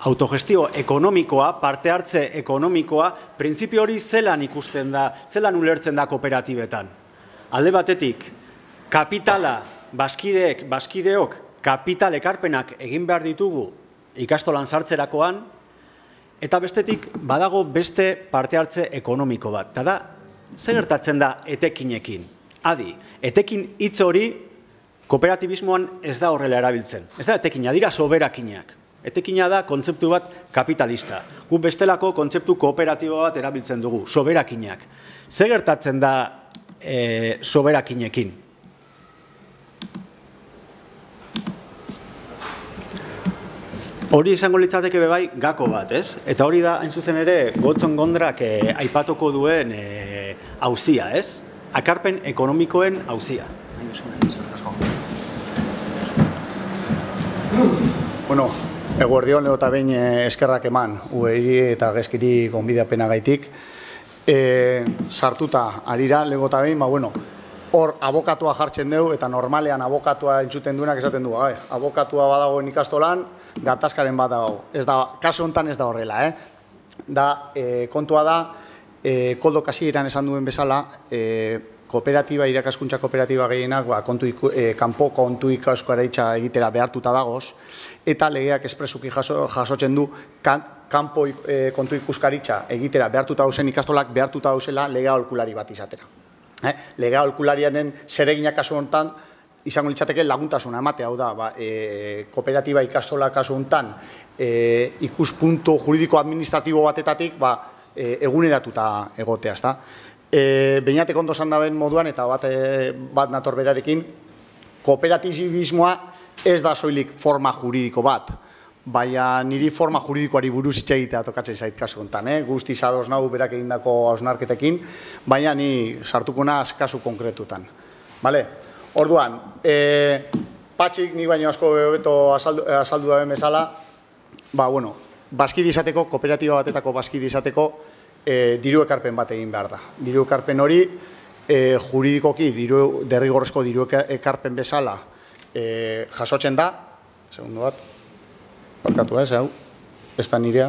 autogestio ekonomikoa, parte hartze ekonomikoa, printzipio hori zelan ikusten da, zelan ulertzen da kooperatibetan. Alde batetik, kapitala, baskideok, kapital ekarpenak egin behar ditugu ikastolan sartzerakoan, eta bestetik, badago beste parte hartze ekonomiko bat. Eta da, zer gertatzen da etekinekin? Adi, etekin hitz hori kooperatibismoan ez da horrela erabiltzen. Ez da etekina, dira soberakinak. Etekina da kontzeptu bat kapitalista. Gu bestelako kontzeptu kooperatibo bat erabiltzen dugu, soberakinak. Zer gertatzen da soberakinekin? Hori izango litzateke bebai gako bat, ez? Eta hori da, hain zuzen ere, Gotzon Gondrak aipatuko duen auzia, ez? Akarpen ekonomikoen auzia. Bueno, eguerdion lehota behin eskerrak eman, ueri eta gezkiri gonbidapena gaitik. Sartuta arira legota behin, hor abokatua jartzen dugu, eta normalean abokatua entzuten duenak esaten du, abokatua badagoen ikastolan, gatazkaren bat dago. Ez da, kasu honetan ez da horrela, kontua da, Koldo Kasieran esan duen bezala, kooperatiba, irakaskuntza kooperatiba gehienak, kanpo kontu ikaskoareitza egitera behartuta dagoz, eta legeak espresuki jasotzen du, kanpo kontu ikuskaritza egitera behartuta dauzen ikastolak behartuta dauzela lega aholkulari bat izatera. Lega aholkularianen zereginak kasu honetan, izango litzateke laguntasuna ematea, hau da, kooperatiba ikastola kasu honetan, ikuspuntu juridiko administratibo batetatik, eguneratuta egotea, ezta. Beinatek ondo esan daben moduan, eta bat nator berarekin, kooperatibismoa ez da soilik forma juridiko bat, baina niri forma juridikoari buruz hitz egitea tokatzen zait kasu honetan, guztiz ados nahu berak egindako hausnarketekin, baina ni sartuko naz kasu konkretutan. Orduan, Patxik nik baino asko beto azaldu daben bezala, bazkide izateko, kooperatiba batetako bazkide izateko, diru ekarpen bat egin behar da. Diru ekarpen hori, juridikoki, derrigorrezko diru ekarpen bezala jasotzen da, segundu bat, parkatu hau, ez da nirea,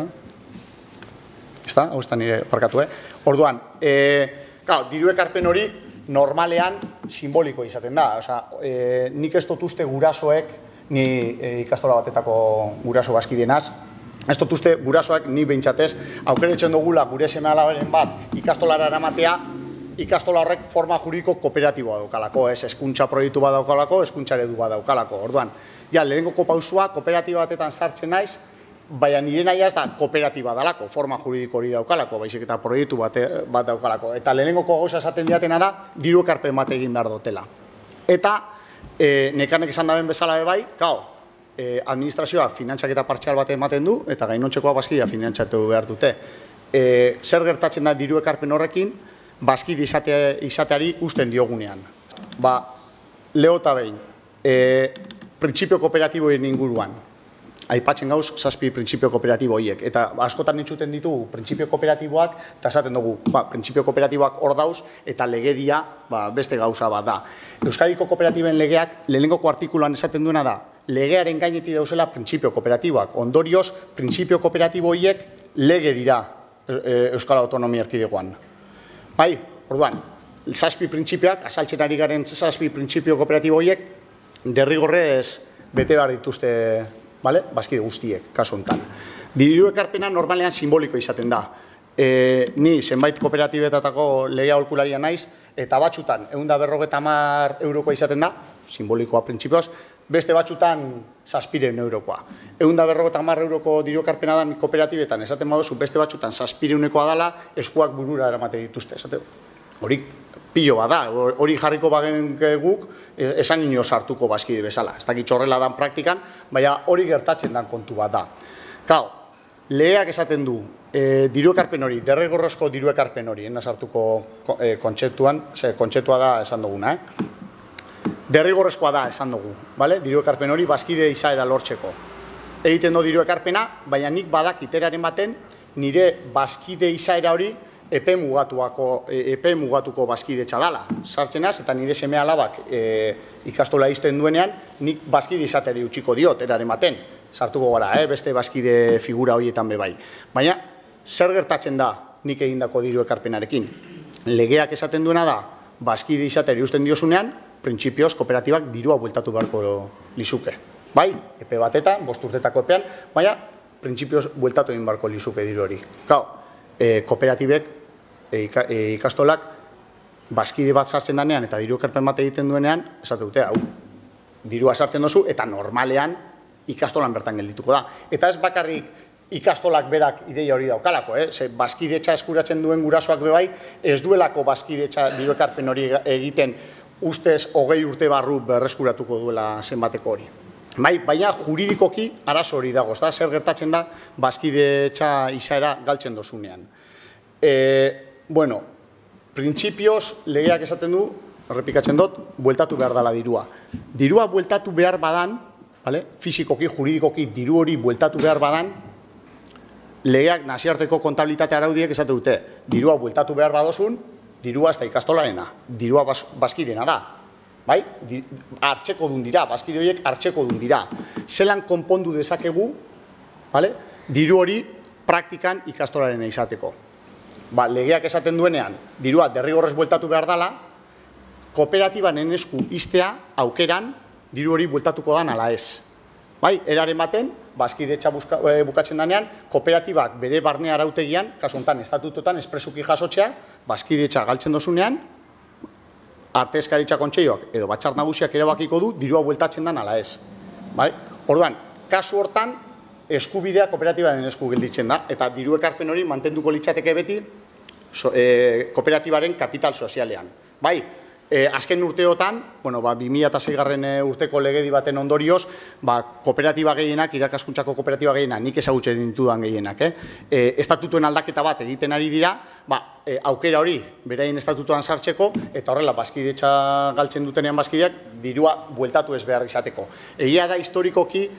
hau ez da nire parkatu, Orduan, diru ekarpen hori normalean simboliko izaten da. Nik ez dut uste gurasoek, ni ikastola batetako guraso bazkidenaz, ez dut uste gurasoak ni behintzatez, aukeretzen dugula gure seme-alabaren bat ikastolara eramatea, ikastola horrek forma juridiko kooperatiboa daukalako, hezkuntza proiektu bat daukalako, hezkuntza eredu bat daukalako. Orduan, lehenengoko pausua kooperatiba batetan sartzen naiz, baina nire nahi ez da kooperatiba dalako, forma juridiko hori daukalako, baizik eta proiektu bat daukalako. Eta lehenengoko gauza esaten diatena da, diru ekarpen bat egin behar dutela. Eta, nekanek esan daben bezala bebai, administrazioak finantzaketa partzial bat ematen du, eta gainontzekoa bazkidea finantzatu behar dute. Zer gertatzen da diru ekarpen horrekin, bazkide izateari usten diogunean. Lehota behin, printzipio kooperatiboen inguruan, aipatzen gauz, 7 printzipio kooperatibo horiek. Eta askotan entzuten ditugu printzipio kooperatiboak, eta esaten dugu, printzipio kooperatiboak hor dauz, eta legedia beste gauza bat da. Euskadiko kooperatiben legeak, lehenengoko artikuloan esaten duena da, legearen gainetik dauzela printzipio kooperatiboak. Ondorioz, printzipio kooperatibo horiek lege dira Euskal Autonomia Erkidegoan. Orduan, 7 printzipioak, azaltzen ari garen 7 printzipio kooperatibo horiek, derrigorrez bete behar dituzte bazkide guztiek, kasu honetan. Diru ekarpena normalean simboliko izaten da. Ni zenbait kooperatibetatako lege aholkularia naiz, eta batzutan, 150 eurokoa izaten da, simbolikoa printzipioz, beste batzutan 700 eurokoa. 150 euroko diru ekarpena da kooperatibetan, esaten baduzu beste batzutan 700 dala, eskuak burura eramate dituzte. Hori pilo bada, hori jarriko bagen guk, esan ino sartuko bazkide bezala. Ez dakit horrela dan praktikan, baina hori gertatzen dan kontu bat da. Legeak esaten du, diru ekarpen hori, derrigorrezko diru ekarpen hori, sartuko kontzeptuan, kontzeptua da esan duguna, derrigorrezkoa da esan dugu, diru ekarpen hori bazkide izaera lortzeko. Egiten du diru ekarpena, baina nik badak iteraren baten, nire bazkide izaera hori epe mugatuko bazkidetza dala. Sartzenaz, eta nire seme alabak ikastola izten duenean, nik bazkide izateri utziko diot, eraren baten. sartuko gara, beste bazkide figura horietan bai. Baina, zer gertatzen da nik egindako diru ekarpenarekin? Legeak esaten duena da, bazkide izateri usten diozunean, printzipioz kooperatibak dirua bueltatu beharko lizuke. Bai, epe batetan, 5 urtetako epean, baina printzipioz bueltatu egin beharko lizuke diru hori. Gau, kooperatibek, ikastolak, bazkide bat sartzen danean eta diru ekarpen bat egiten duenean, esate dute, hau, dirua sartzen dozu eta normalean ikastolan bertan geldituko da. Eta ez bakarrik ikastolak berak ideia hori daukalako, bazkidetza eskuratzen duen gurasoak bebai, ez duelako bazkidetza diru ekarpen hori egiten ustez 20 urte barru berreskuratuko duela zenbateko hori. Baina juridikoki arazo hori dago, zer gertatzen da bazkidetza izaera galtzen dozunean. Bueno, printzipioz legeak esaten du, errepikatzen dut, bueltatu behar dela dirua. Dirua bueltatu behar badan, fisikoki, juridikoki diru hori bueltatu behar badan, legeak nazioarteko kontabilitate araudiek esate dute, dirua bueltatu behar badozun, dirua ez da ikastolarena, dirua bazkidena da. Bai? Hartxeko dun dira, bazkide horiek hartxeko dun dira. Zelan konpondu dezakegu, diru hori praktikan ikastolarena izateko. Legeak esaten duenean, dirua derrigorrez bueltatu behar dela, kooperatibanen esku iztea aukeran diru hori bueltatuko dan ala ez. Eraren baten, bazkidetza bukatzen danean, kooperatibak bere barne arautegian, kasu honetan estatutotan espresuki jasotzea, bazkidetza galtzen dozunean, arte eskaritza kontseiloak edo batzar nagusiak erabakiko du dirua bueltatzen dan ala ez. Orduan, kasu hortan, eskubidea kooperatibaren esku gelditzen da, eta diru ekarpen hori mantenduko litzateke beti kooperatibaren kapital sozialean. Azken urteotan, 2006 urteko legedi baten ondorioz, kooperatiba gehienak, irakaskuntzako kooperatiba gehienak, nik ezagutzen ditudan gehienak, estatutuen aldaketa bat egiten ari dira, aukera hori beraien estatutuan sartzeko, eta horrela bazkidetza galtzen dutenean bazkideak, dirua bueltatu ez behar izateko. Egia da historikoki,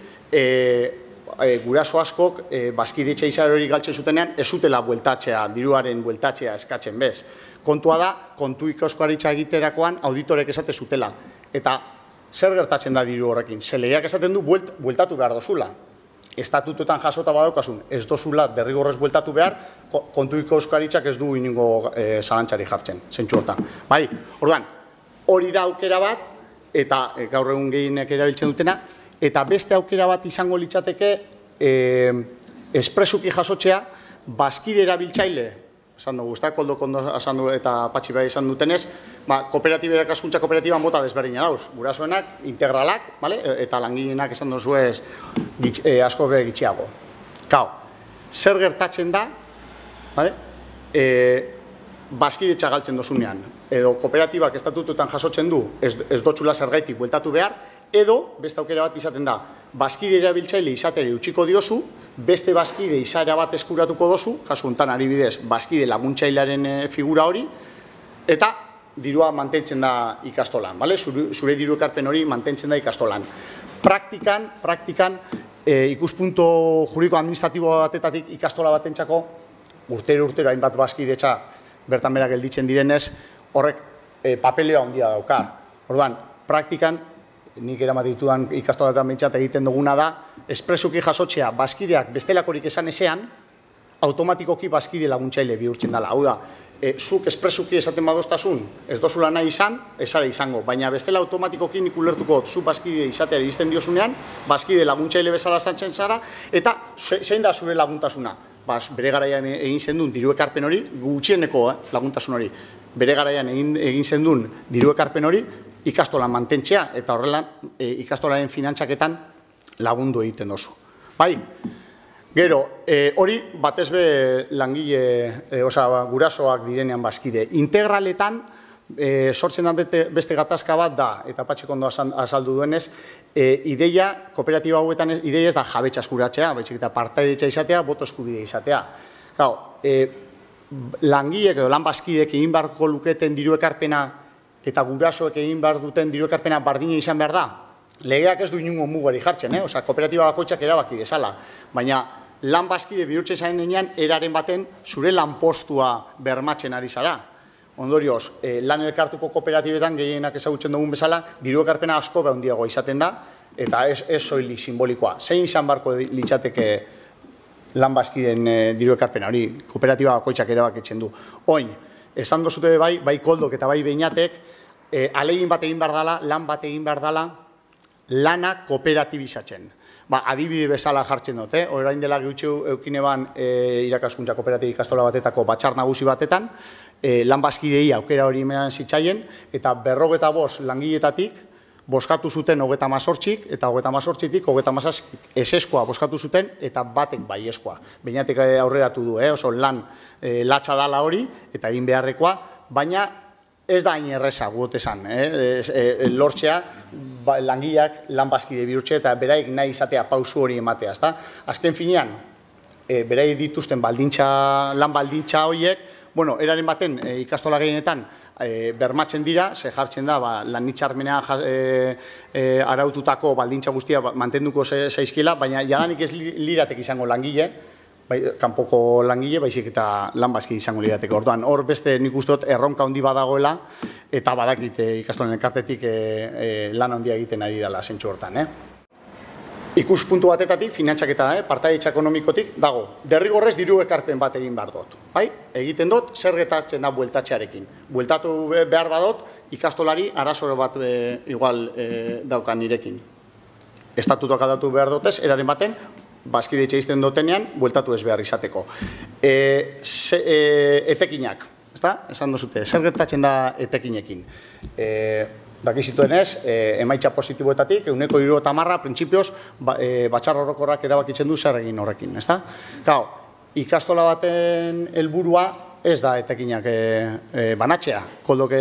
guraso askok bazkidetza izar hori galtzen zutenean, ez zutela bueltatzea, diruaren bueltatzea eskatzen bez. Kontua da, kontu ikaskoaritza egiterakoan auditorek esate zutela. Eta zer gertatzen da diru horrekin? Legeak esaten du bueltatu behar dozula. Estatutuetan jasota badaukasun, ez dozula derrigorrez bueltatu behar, kontu ikaskaritzak ez du inongo zalantzari jartzen, zentsu hortan. Orduan, hori da aukera bat, eta gaur egun gehienek erabiltzen dutena, eta beste aukera bat izango litzateke espresuki jasotzea, bazkide erabiltzaile, esan dugu, koldo kondo eta patxi bai esan dutenez, kooperatiba irakaskuntza kooperatiba mota desberdina dauz, gurasoenak, integralak, eta langileenak esan duzuez asko be gitxiago. Zer gertatzen da, bazkidetza galtzen dozunean, edo kooperatibak estatutuetan jasotzen du, ez dotxula zergaitik bueltatu behar, edo, beste aukera bat izaten da, bazkide erabiltzaile izateri utziko diozu, beste bazkide izaera bat eskuratuko dozu, kasu honetan adibidez, bazkide laguntzailearen figura hori, eta dirua mantentzen da ikastolan, zure diru ekarpen hori mantentzen da ikastolan. Praktikan, ikuspunto juridiko administratibo batetatik ikastola batentzako, urtero hainbat bazkidetza bertan bera gelditzen direnez, horrek papelea handia dauka. Orduan, praktikan, nik eramaten ditudan ikastolatan behintzat egiten duguna da, espresuki jasotzea bazkideak bestelakorik esan ezean, automatikoki bazkide laguntzaile bihurtzen dela. Hau da, zuk espresuki esaten badoztasun, ez dozula nahi izan, esara izango, baina bestela automatikoki nik ulertuko zu bazkide izatea iristen diozunean, bazkide laguntzaile bezala sartzen zara, eta zein da zure laguntasuna? Bere garaian egin zendun diru ekarpen hori, gutxieneko laguntasun hori, bere garaian egin zendun diru ekarpen hori, ikastola mantentzea, eta horrela ikastolaren finantzaketan lagundu egiten dozu. Gero, hori batez be langile, gurasoak direnean bazkide. Integraletan, sortzen da beste gatazka bat da, eta Patxik ondo azaldu duenez, ideia, kooperatiba hauetan ideia ez da jabetza eskuratzea, baizik eta partaidetza izatea, boto eskubide izatea. Langileek edo lan bazkideek egin beharko luketen diru ekarpena eta gurasoek egin behar duten diru ekarpena bardina izan behar da, legeak ez du inungo mugari jartzen, kooperatiba bakoitzak erabaki dezala, baina lan bazkide bihurtzen zaren enean, eraren baten zure lanpostua bermatzen ari zara. Ondorioz, lan elkartuko kooperatibetan gehienak ezagutzen dugun bezala, diru ekarpena asko handiagoa izaten da, eta ez soilik simbolikoa. Zein izan barko litzateke lan bazkideen diru ekarpena, hori kooperatiba bakoitzak erabakitzen du. Oin, esan dozute bai Koldok eta bai Beñatek, ahalegin bat egin behar dela, lan bat egin behar dela, lana kooperatibizatzen. Adibide bezala jartzen dut, orain dela gutxu eukineban irakaskuntza kooperatiba ikastola batetako batzar nagusi batetan, lan bazkidei aukera hori eman zitzaien, eta 45 langiletatik boskatu zuten 38 eta 38tik 37 ezeskoa boskatu zuten eta batek baiezkoa. Beñatek aurreratu du, oso lan latza dala hori eta egin beharrekoa, baina ez da hain erreza guot esan, lortzea langileak lan bazkide bihurtzea eta beraik nahi izatea pausu hori ematea. Azken finean, beraik dituzten lan baldintza horiek, eraren baten ikastola gehienetan bermatzen dira, ze jartzen da lan hitzarmena araututako baldintza guztia mantenduko zaizkiela, baina jadanik ez liratek izango langile, kanpoko langile, baizik eta lan bazkide izango lirateko. Orduan, hor beste nik uste dut erronka handi badagoela, eta badakit ikastolen elkartetik lan handia egiten ari dela zentsu hortan. Ikuspuntu batetatik, finantzaketa, partaidetza ekonomikotik, dago, derrigorrez diru ekarpen bat egin behar dut. Egiten dut, zer gertatzen da bueltatzearekin. Bueltatu behar badot, ikastolari arazo bat igual daukan nirekin. Estatutuak aldatu behar dutez, eraren baten, bazkidetxe izten dutenean, bueltatu ez behar izateko. Etekinak, esan duzute, zer gertatzen da etekinekin. Dakizituenez, emaitza positiboetatik, 70% printzipioz batzar orokorrak erabakitzen du zer egin horrekin. Ikastola baten helburua ez da etekinak banatzea. Koldok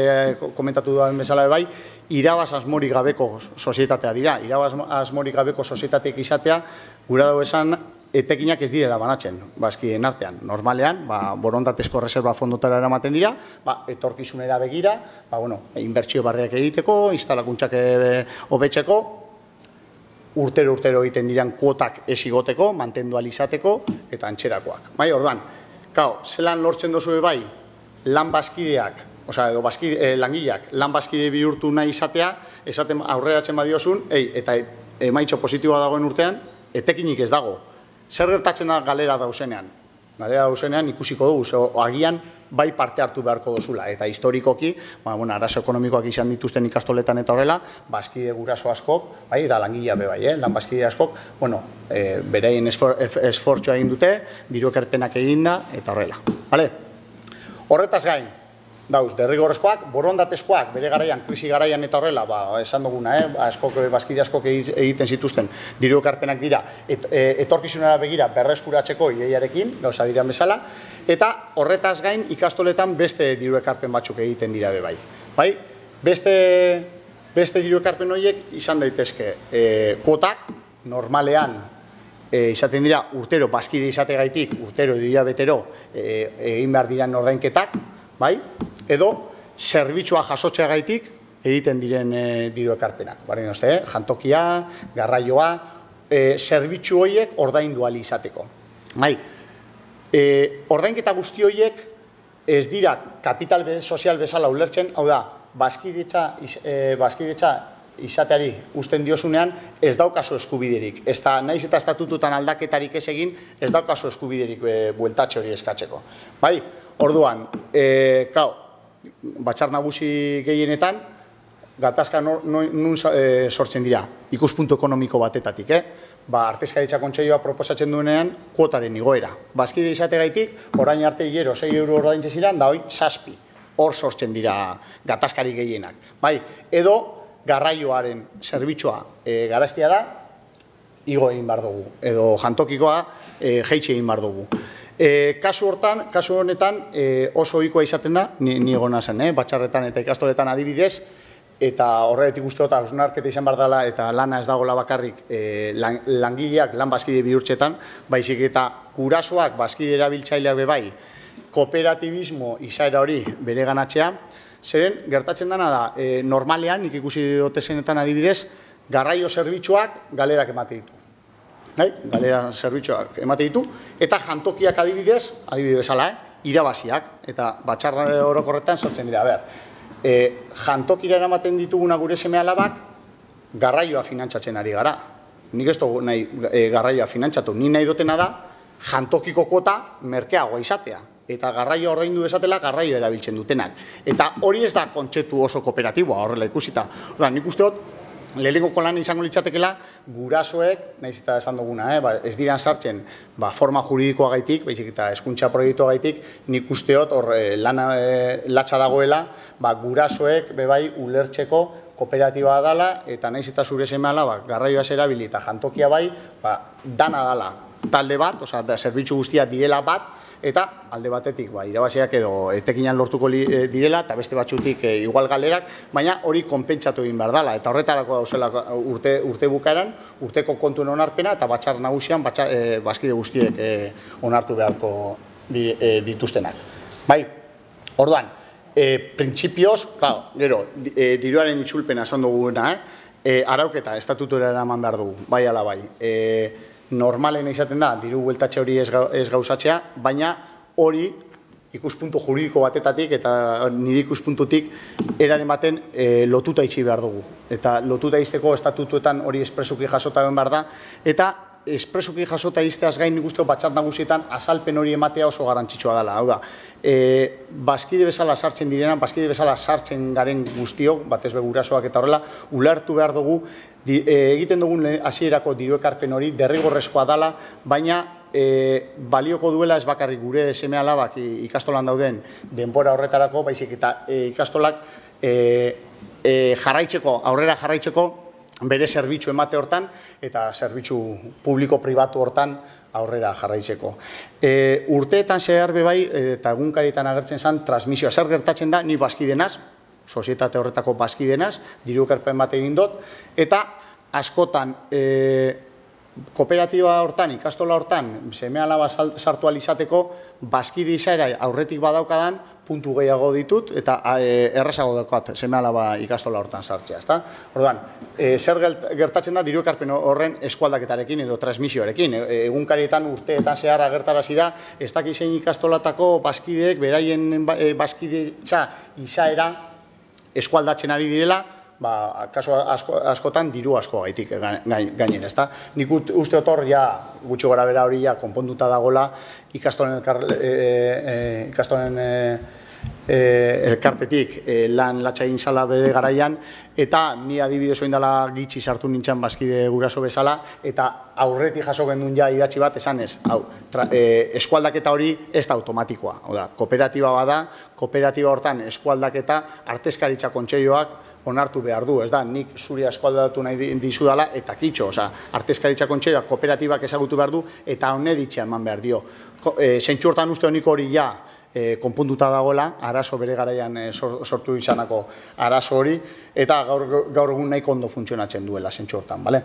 komentatu duen bezala bai, irabaz asmorik gabeko sozietatea dira. Irabaz asmorik gabeko sozietateek izatea, gura dugu esan, etekinak ez direla banatzen, bazkideen artean. Normalean, borondatezko reserva fondotara eramaten dira, etorkizunera begira, inbertsio barriak egiteko, instalakuntzak hobetzeko, urtero egiten diran kuotak ez igoteko, mantendu alizateko, eta antxerakoak. Orduan, zelan lortzen dozu bai, lan bazkideak, edo langileak, lan bazkide bihurtu nahi izatea, esaten aurreratzen badiosun, eta emaitxo positiboa dagoen urtean, etekinik ez dago. Zer gertatzen da galera dauzenean? Galera dauzenean ikusiko dugu, agian bai parte hartu beharko dozula. Eta historikoki, arazo ekonomikoak izan dituzten ikastoletan eta horrela, bazkide guraso askok, da langilea be bai, lan bazkide askok, bereien esfortzua egin dute, diru ekarpenak egin da, eta horrela. Horretaz gain, dauz, derrigorrezkoak, borondatezkoak, bere garaian, krisi garaian eta horrela, esan duguna, bazkide askok egiten zituzten, diru ekarpenak dira, etorkizunera begira berreskuratzeko ideiarekin, gauza diran bezala, eta horretaz gain ikastoletan beste diru ekarpen batzuk egiten dira be bai. Beste diru ekarpen horiek izan daitezke kuotak, normalean, izaten dira urtero bazkide izategaitik, urtero edo hilabetero egin behar diran ordainketak, edo zerbitzua jasotzeagaitik egiten diren diru ekarpenak. Jantokia, garraioa, zerbitzu horiek ordaindu ahal izateko. Ordainketa guzti horiek ez dira kapital sozial bezala ulertzen, hau da, bazkidetza izateari usten diozunean ez daukazu eskubiderik. Naiz eta estatututan aldaketarik ez egin, ez daukazu eskubiderik bueltatxe hori eskatzeko. Orduan, batzar nagusi gehienetan, gatazka nun sortzen dira, ikuspuntu ekonomiko batetatik. Artezkaritza kontseilua proposatzen duenean, kuotaren igoera. Bazkide izategaitik, orain arte hilero 6 euro ordaintzen ziren, da hoi 7. Hor sortzen dira gatazkari gehienak. Edo, garraioaren zerbitzua garaztia da, igo egin behar dugu. Edo jantokikoa jeitsi egin behar dugu. Kasu honetan oso ohikoa izaten da, ni egona zen, batxarretan eta ikastoletan adibidez, eta horretik uste dut hausnarketa izan behar dela eta lana ez dagoela bakarrik langileak lan bazkide bihurtzetan, baizik eta gurasoak bazkide erabiltzaileak bebai, kooperatibismo izaera hori bere ganatzea, zeren gertatzen dena da, normalean, nik ikusi dotezenetan adibidez, garraio zerbitzuak galerak emate ditu. Galera zerbitzuak emate ditu, eta jantokiak adibidez bezala, irabaziak, eta batzar orokorretan sortzen dira. Jantokira eramaten dituguna gure seme alabak, garraioa finantzatzen ari gara. Nik ez dugu nahi garraioa finantzatu, ni nahi dutena da jantokiko kuota merkeagoa izatea. Eta garraioa ordaindu desatela garraioa erabiltzen dutenak. Eta hori ez da kontzeptu oso kooperatiboa horrela ikusita. Nik uste dut, lehenengoko lan izango litzatekela gurasoek, nahiz eta esan duguna, ez diran sartzen forma juridikoa gaitik, baizik eta hezkuntza proiektua gaitik, nik uste dut hor latxa dagoela, gurasoek bebai ulertzeko kooperatiba dala, eta nahiz eta zure semeala garraioa erabili eta jantokia bai, dana dala talde bat, zerbitzu guztia direla bat, eta alde batetik irabaziak edo etekinan lortuko direla, eta beste batzutik igual galerak, baina hori konpentsatu egin behar dela, eta horretarako dauzela urte bukaeran, urteko kontuen onarpena, eta batzar nagusian bazkide guztiek onartu beharko dituztenak. Bai, orduan, printzipioz, gero, diruaren itzulpena esan duguna, arauketa, estatutura eraman behar dugu, bai ala bai. Normalen izaten da, diru bueltatxe hori ez gauzatzea, baina hori ikuspuntu juridiko batetatik eta nire ikuspuntutik eraren baten lotuta itxi behar dugu. Eta lotuta izteko estatutuetan hori espresuki jasota behar da, eta espresuki jasota izteaz gain nik uste batzar nagusietan azalpen hori ematea oso garrantzitsua dela. Hau da, bazkide bezala sartzen direnan, bazkide bezala sartzen garen guztiok, batez begurasoak eta horrela, ulertu behar dugu, egiten dugun hasierako diru ekarpen hori derrigorrezkoa dela, baina balioko duela ez bakarrik gure seme-alabak ikastolan dauden denbora horretarako, baizik eta ikastolak aurrera jarraitzeko bere zerbitzu emate hortan eta zerbitzu publiko-pribatu hortan aurrera jarraitzeko. Urteetan zehar bebai eta egunkarietan agertzen zen transmisioa. Zer gertatzen da, ni bazkidenaz, sozietate horretako bazkidenaz, diru ekarpen bat egin dut, eta askotan kooperatiba hortan, ikastola hortan, seme-alaba sartu alizateko, bazkide izaera aurretik badaukadan, puntu gehiago ditut, eta errazago daukat seme-alaba ikastola hortan sartzea. Orduan, zer gertatzen da diru ekarpen horren eskualdaketarekin edo transmisioarekin. Egunkarietan urteetan zehar agertarazi da, ez dakizein ikastolatako bazkideek beraien bazkidetza izaera eskualdatzen ari direla, kaso askotan diru asko gaitik gainera, ezta? Nik uste otor, gutxi gora bera hori konponduta dagoela ikastolen elkartetik lan latxa egin zala bere garaian, eta ni adibidez oin dela gitxi sartu nintzen bazkide guraso bezala, eta aurretik jaso gendun idatzi bat esanez, eskualdaketa hori ez da automatikoa. Kooperatiba bada, kooperatiba hortan eskualdaketa artezkaritza kontseioak onartu behar du, ez da, nik zuri eskualdatu nahi dizu dela, eta kitxo, artezkaritza kontseioak kooperatibak ezagutu behar du, eta oneritxea eman behar dio. Zentsu hortan uste honik hori konpunduta dagoela, arazo bere garaian sortu izanako arazo hori, eta gaur egun nahiko ondo funtzionatzen duela zentsu hortan, bale?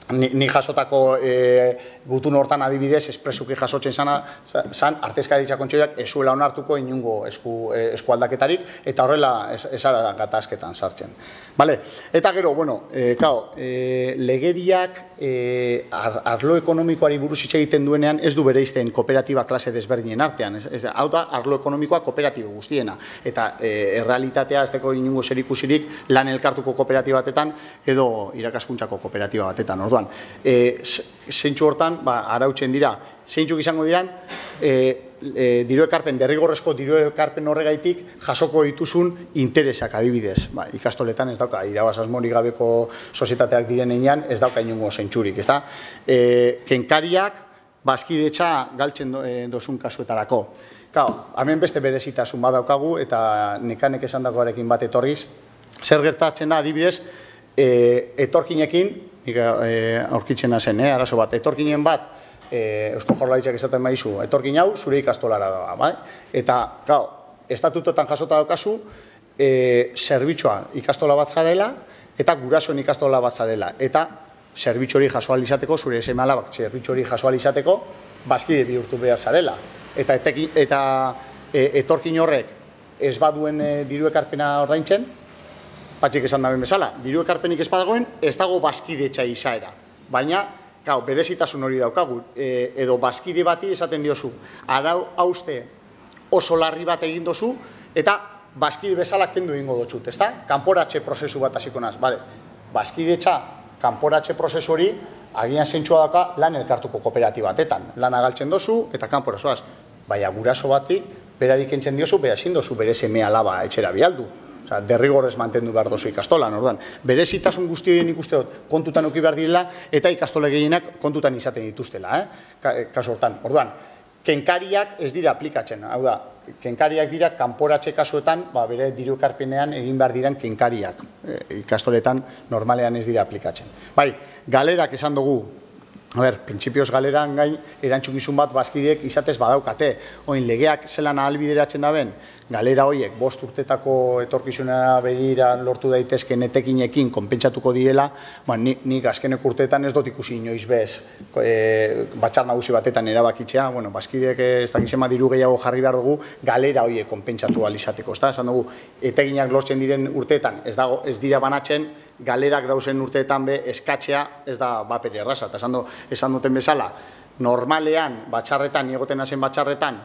Ni jasotako gutun hortan adibidez, espresuki jasotzen zan, artezkaritza kontseioak ez zuela onartuko inungo eskualdaketarik, eta horrela esara gatazketan sartzen. Eta gero, legediak arlo ekonomikoari buruz hitz egiten duenean ez du bereizten kooperatiba klase desberdinen artean. Hau da, arlo ekonomikoa kooperatibo guztiena. Eta errealitatea ez deko inungo zerikusirik lan elkartuko kooperatiba batetan edo irakaskuntzako kooperatiba batetan. Orduan, zeintzu hortan, arautzen dira, zeintzuk izango diran, diru ekarpen, derrigorrezko diru ekarpen horregaitik jasoko dituzun interesak adibidez. Ikastoletan ez dauka, irabaz asmorik gabeko sozietateak direnean ez dauka inungo zeintzurik. Kenkariak bazkidetza galtzen dozun kasuetarako. Hemen beste berezitasun badaukagu eta nekanek esan dagoarekin bat etorriz. Zer gertatzen da adibidez, etorkinekin, aurkitzen zen, arazo bat, etorkinen bat, Eusko Jaurlaritzak esaten baizu, etorkin hau zure ikastolara da. Eta, estatutotan jasota daukazu, zerbitzua ikastola bat zarela, eta gurasoen ikastola bat zarela. Eta, zerbitzu hori jaso alizateko, zure seme-alabak zerbitzu hori jaso alizateko, bazkide bihurtu behar zarela. Eta etorkin horrek ez baduen diru ekarpena ordaintzen, patxik esan daben bezala, diru ekarpenik ez badagoen, ez dago bazkidetza izaera. Baina, berezitasun hori daukagu, edo bazkide bati esaten diozu, arau hauste oso larri bat egin dozu, eta bazkide bezala kendu egingo dutxut, ezta? Kanporatxe prozesu bat hasiko naz, bazkidetza kanporatze prozesu hori agian zentsua daka lan elkartuko kooperatiba batetan. Lana galtzen dozu eta kanpora zoaz. Baina guraso batik, berarik entzen diozu, bera ezin dozu bere seme alaba etxera bialdu. Osa, derrigorrez mantendu behar dozu ikastolan, orduan. Berezitasun guzti horien ikuste dut kontutan eduki behar direla eta ikastole gehienak kontutan izaten dituztela, kasu hortan. Orduan, kenkariak ez dira aplikatzen, hau da, kenkariak dira kanporatze kasuetan, bere diru ekarpenean egin behar diren kenkariak. Ikastoletan normalean ez dira aplikatzen. Bai, galerak esan dugu, printzipioz galeran gain erantzukizun bat bazkideek izatez badaukate. Oin, legeak zelan ahalbideratzen da ben, galera horiek 5 urtetako etorkizunera begira lortu daitezken etekinekin konpentsatuko direla, nik azkenek urteetan ez dut ikusi inoiz bez batzar nagusi batetan erabakitzea, bazkideek ez dakizema diru gehiago jarri behar dugu galera horiek konpentsatu alizateko. Esan dugu, etekinak lortzen diren urteetan ez dira banatzen, galerak dauzen urteetan eskatzea ez da bapere erraza. Esan duten bezala, normalean batxarretan, egoten hazen batxarretan,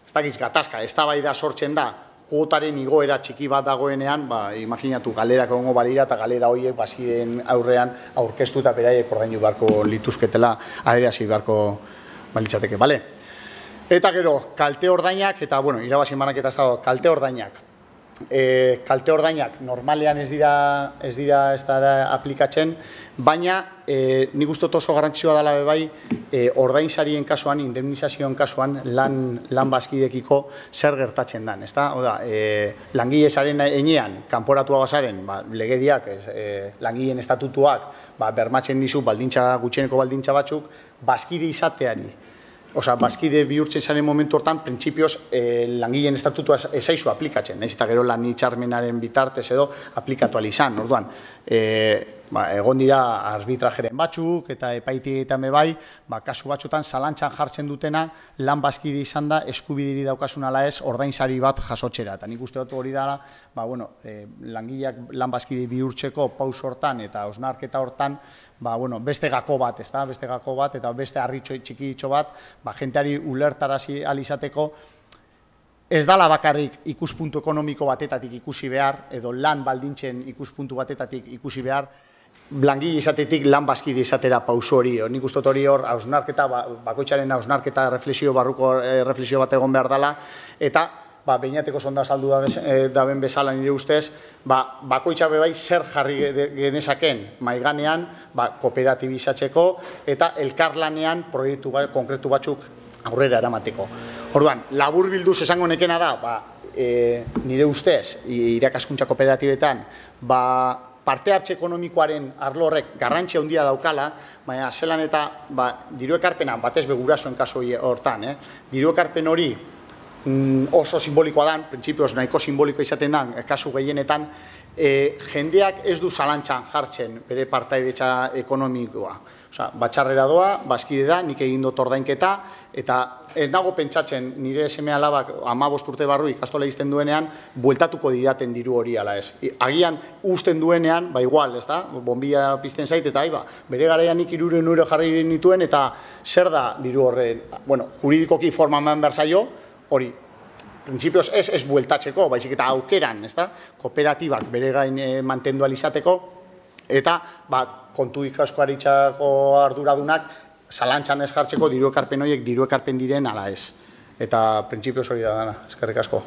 ez dakiz gatazka, ez da bai da sortzen da, kuotaren igoera txiki bat dagoenean, imaginatu galerak egongo balira eta galera horiek bazkideen aurrean aurkeztu eta beraiek ordaindu beharko lituzketela, aderazi beharko balitzateke, bale? Eta gero, kalte ordainak, eta irabazi banaketa ez dago, kalte ordainak. Kalte ordainak normalean ez dira aplikatzen, baina nik uste oso garrantzitsua dela bai ordainsarien kasuan, indemnizazioen kasuan lan bazkidekiko zer gertatzen den. Oda, langile zaren enean, kanporatua bazaren, legediak, langileen estatutuak bermatzen dizu gutxieneko baldintza batzuk, bazkide izateari. Osa, bazkide bihurtzen zaren momentu hortan, printzipioz langileen estatutua ezaizu aplikatzen, nahiz eta gero lan hitzarmenaren bitartez edo aplikatu izan. Orduan, egon dira arbitrajeren batzuk eta epaitegietan bai, kasu batzutan zalantzan jartzen dutena lan bazkide izan da eskubidiri daukasun ala ez ordainsari bat jasotzera. Eta nik uste dut hori dara, langileak lan bazkide bihurtzeko paus hortan eta hausnarketa hortan, beste gako bat, eta beste harritxo txikitxo bat, jenteari ulertarazi alizateko, ez dala bakarrik ikuspuntu ekonomiko batetatik ikusi behar, edo lan baldintzen ikuspuntu batetatik ikusi behar, langile izatetik lan bazkide izatera pauso hori. Nik uste hori hor, bakoitzaren hausnarketa barruko reflexio bat egon behar dela, eta behinateko sonda saldu daben bezala nire ustez, bakoitza bebai zer jarri genezaken maiganean kooperatibizatzeko eta elkarlanean proiektu konkretu batzuk aurrera eramateko. Orduan, labur bilduz esango nekena da, nire ustez, irakaskuntza kooperatibetan, parte hartze ekonomikoaren arlo horrek garrantzia handia daukala, baina zelan eta diru ekarpena, batez begurasoen kasu hortan, diru ekarpen hori oso simbolikoa dan, printzipioz nahiko simbolikoa izaten dan, kasu gehienetan, jendeak ez du zalantzan jartzen bere partaidetza ekonomikoa. Batxarrera doa, bazkide da, nik egin dut ordainketa, eta ez nago pentsatzen nire seme alabak 15 urte barru ikastola izten duenean, bueltatuko didaten diru hori ala ez. Agian usten duenean, igual, ez da, bombilla pizten zait, eta bere garaian nik 300 euro jarri nituen, eta zer da diru horren, juridikoki forma eman behar zaio, hori, printzipioz ez bueltatzeko, baizik eta aukeran, kooperatibak bere gain mantendu alizateko, eta kontu ikaskoaritzako arduradunak zalantzan ez jartzeko diru ekarpen horiek diru ekarpen diren ala ez. Eta printzipioz hori da dana, eskerrik asko.